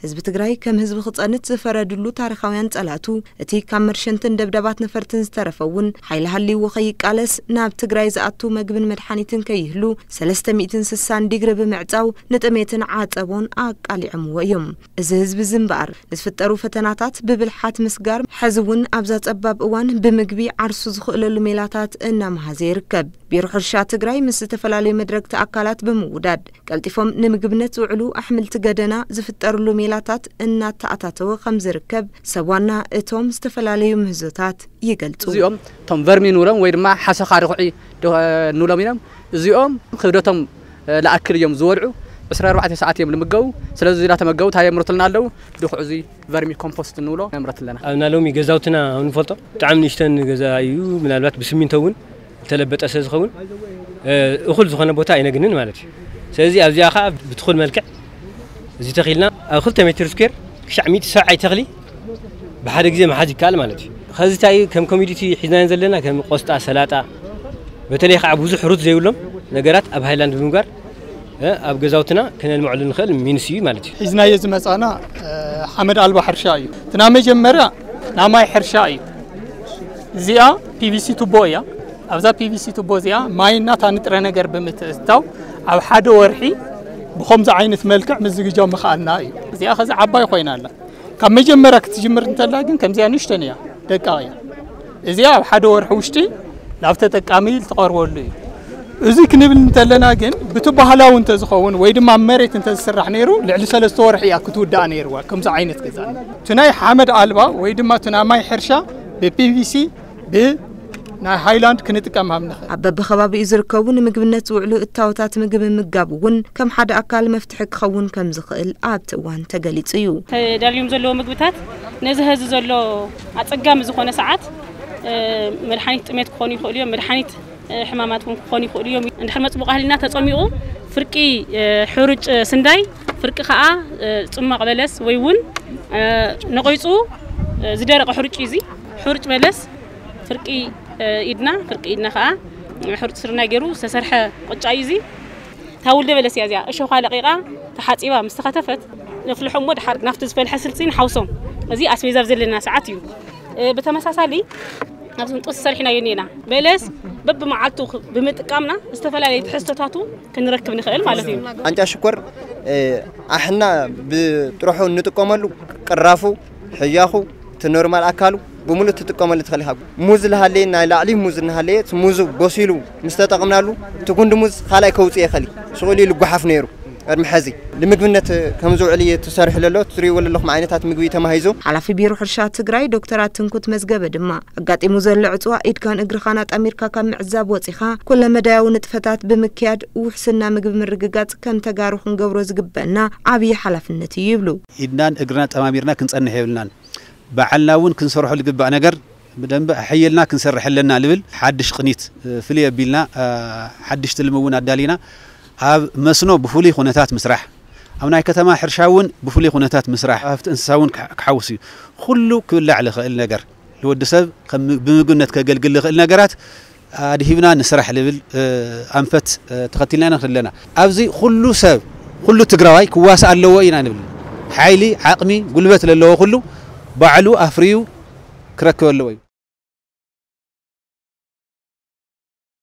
ህዝቢ ትግራይ ከም ህዝቢ ክጸንት ዝፈረድሉ ታሪኻውያን ጸላቱ፣ እቲ ካብ መርሸንትን ደብዳባት ነፈርትን ዝተረፈ እውን ሓይሊ ሃልይዎ ከይቃለስ፣ ናብ ትግራይ ዝኣቱ መግብን መድሓኒትን ከይህሉ ሰለስተ ሚእትን ስሳን ዲግሪ ብምዕጻው ንጥሜትን ዓጸቦን ኣቃሊዖምዎ እዮም። እዚ ህዝቢ እዚ እምበኣር ንዝፍጠሩ ፈተናታት ብብልሓት ምስጋር፣ ሕዚ እውን ኣብዛ ጸባብ እዋን ብምግቢ ዓርሱ ዝኽእለሉ ሜላታት እናመሃዘ ይርከብ። ቢሮ ሕርሻ ትግራይ ምስ ዝተፈላለዩ መድረግቲ ኣካላት ብምውዳድ ቀልጢፎም ንምግብነት ዝውዕሉ ኣሕምልቲ ገደና ዝፍጠርሉ ሜላታት እናተኣታተወ ከም ዝርከብ ሰብ ዋና እቶም ዝተፈላለዩ ምህዞታት ይገልጹ። እዚኦም እቶም ቨርሚ ንብሎም ወይ ድማ ሓሰኻ ድኹዒ ዶ-፣ ንብሎም እዮም። እዚኦም ክብደቶም፣ እ፣ ለኣክል እዮም ዝበልዑ። ዕስራ ኣርባዕተ ሰዓት እዮም ልምገቡ። ስለዚ እዚና ተመገቡ እንታይ የምርቱልና ኣለዉ? ድኹዕ እዚ ቨርሚ ኮምፖስት ንብሎ ነምረት ኣለና። ኣብና ሎሚ ገዛውትና ኣብ ንፈልጦ ብጣዕሚ ንእሽተን ገዛ እዩ። ምናልባት ብስሚንቶ እውን ዝተለበጠ ስለ ዝኸውን፣ እ፣ እኹል ዝኾነ ቦታ ኣይነግንን ማለት እዩ። ስለዚ ኣብዚኣ ኸዓ ብትኹል መልክዕ እዚ ተኺልና ኣብ ክልተ ሜትር ስኩዌር ክሻዕ ሚእቲ ሰብዓይ ተኽሊ ብሓደ ግዜ ምሓዝ ይከኣል ማለት እዩ። ኸዚ እንታይ እዩ ከም ኮሚዲቲ ሒዝናዮ ዘለና ከም ቆስጣ፣ ሰላጣ፣ በተለይ ኸዓ ብዙሕ ሩት ዘይብሎም ነገራት ኣብ ሃይላንድ ብምግባር፣ እ፣ ኣብ ገዛውትና ከነልምዐሉ ንኽእል ሚንስ እዩ ማለት እዩ። ሒዝናዮ ዝመጻና፣ እ፣ ሓመድ ኣልባ ሕርሻ እዩ። እቲ ናይ መጀመርያ ናይ ማይ ሕርሻ እዩ። እዚኣ ፒ ቪ ሲ ቱቦ እያ። ኣብዛ ፒ ቪ ሲ ቱቦ እዚኣ ማይና እታ ንጥረ ነገር ብምትእትታው ኣብ ሓደ ወርሒ ብኸምዚ ዓይነት መልክዕ ምዝግጃው ምኽኣልና እዩ። እዚኣ ኸዚ ዓባይ ኮይና ኣላ። ካብ መጀመርያ ክትጅምር እንተላ ግን ከምዚኣ ንእሽተን እያ፣ ደቃቕ እያ። እዚኣ ኣብ ሓደ ወርሒ ውሽጢ ናብ ተጠቃሚ ትቐርበሉ እዩ። እዚ ክንብል እንተለና ግን ብቲ ባህላዊ እንተዝኸውን ወይ ድማ ኣብ መሬት እንተዝስራሕ ነይሩ ልዕሊ ሰለስተ ወርሒ እያ ክትውዳእ ነይርዋ። ከምዚ ዓይነት ገዛ እቲ ናይ ሓመድ ኣልባ ወይ ድማ እቲ ናይ ማይ ሕርሻ ብ ፒ ቪ ሲ ብ ናይ ሃይላንድ ክንጥቀም ሃብ ንኽእል። ኣብ በብኸባቢኡ ዝርከቡ ንምግብነት ዝውዕሉ እታወታት ምግቢ ምምጋብ እውን ከም ሓደ ኣካል መፍትሒ ክኸውን ከም ዝኽእል ኣብቲ እዋን ተገሊጹ እዩ። ተዳልዮም ዘለዉ ምግብታት ነዚ ሀዚ ዘሎ ኣጸጋሚ ዝኾነ ሰዓት፣ እ፣ መድሓኒት ጥሜት ክኾኑ ይኽእሉ እዮም፣ መድሓኒት፣ እ፣ ሕማማት እውን ክኾኑ ይኽእሉ እዮም። እንድሕር መጽቡቕ ኣህሊና ተጸሚቑ ፍርቂ፣ እ፣ ሕሩጭ ስንዳይ፣ ፍርቂ ከኣ፣ እ፣ ጽሟቕ በለስ ወይ እውን፣ እ፣ ነቒጹ፣ እ፣ ዝደረቐ ሕሩጭ እዩ እዚ። ሕሩጭ በለስ ፍርቂ፣ እ፣ ኢድና፣ ፍርቂ ኢድና ከኣ ሕሩጭ ስርናይ ገይሩ ዝተሰርሐ ቅጫ እዩ እዚ። እታ ውልደ በለስ እያ እዚኣ። እሾኻ ለቒቓ ተሓጺባ ምስ ተኸተፈት ነፍልሖ እሞ ድሓር ናብቲ ዝፈልሐ ስልሲ ንሓውሶም። እዚ ኣስቤዛ ኣብ ዘለና ሰዓት እዩ። እ፣ ብተመሳሳሊ ኣብዚ ህንጡስ ሰሪሕናዮ እኒኤና። በለስ በብመዓልቱ ክ-፣ ብምጥቃምና ዝተፈላለዩ ትሕዝቶታቱ ክንረክብ ንኽእል ማለት እዩ። ቃንጫ ሽኮር፣ እ፣ ኣሕና ብጥርሑ እንጥቀመሉ ቅራፉ፣ ሕያኹ፣ እቲ ኖርማል ኣካሉ ብምሉእ ትጥቀመሉ ትኽእል ኢኻ። ሙዝ ዝሃለየ ናይ ላዕሊ ሙዝ እናሃለየ እቲ ሙዙ በሲሉ ምስ ተጠቕምናሉ እቲ ጉንዲ ሙዝ ካልኣይ ከውፅእ ይኽእል እዩ። ሽቕሉ ኢሉ ጓሓፍ ነይሩ ቅድሚ ሕዚ ንምግብነት ከም ዝውዕል እዩ ተሰሪሑ ዘሎ። ትሪእዎ ዘለኹም ዓይነታት ምግቢ ተማሂዙ። ሓላፊ ቢሮ ሕርሻ ትግራይ ዶክተር ኣትንኩት መዝገበ ድማ ኣጋጢሙ ዘሎ ዕፅዋ ኢድካን እግርኻን ኣጣሚርካ ካብ ምዕዛብ ወፂኻ ኩለመዳያዊ ንጥፈታት ብምክያድ ውሕስና ምግቢ ምርግጋፅ ከም ተጋሩ ክንገብሮ ዝግበአና ዓብዪ ሓላፍነት እዩ ይብሉ። ኢድናን እግርና ጠማሚርና ክንጸንሕ የብልናን። ባዕልና እውን ክንሰርሖ ዝግባእ ነገር ብደንቢ ኣሐይልና ክንሰርሕ ኣለና ልብል ሓድሽ ቅኒት፣ እ፣ ፍልይ ኣቢልና፣ እ፣ ሓድሽ ትልሚ እውን ኣዳሊና ኣብ መስኖ ብፍሉይ ኩነታት ምስራሕ፣ ኣብ ናይ ከተማ ሕርሻ እውን ብፍሉይ ኩነታት ምስራሕ፣ ሃፍቲ እንስሳ እውን ክሓ-፣ ክሓውስ እዩ። ኩሉ ክብላዕ ዝኽእል ነገር ንወዲ ሰብ ከም ም-፣ ብምግብነት ከገልግል ዝኽእል ነገራት ኣድሂብና ንስራሕ ልብል፣ እ፣ ኣንፈት፣ እ፣ ተኸቲልና ኢና ንኽድ ኣለና። ኣብዚ ኩሉ ሰብ፣ ኩሉ ትግራዋይ ክዋሳእ ኣለዎ ኢና ንብል። ሓይሊ፣ ዓቕሚ፣ ጉልበት ለለዎ ኩሉ ባዕሉ ኣፍርዩ ክረክብ ኣለዎ እዩ።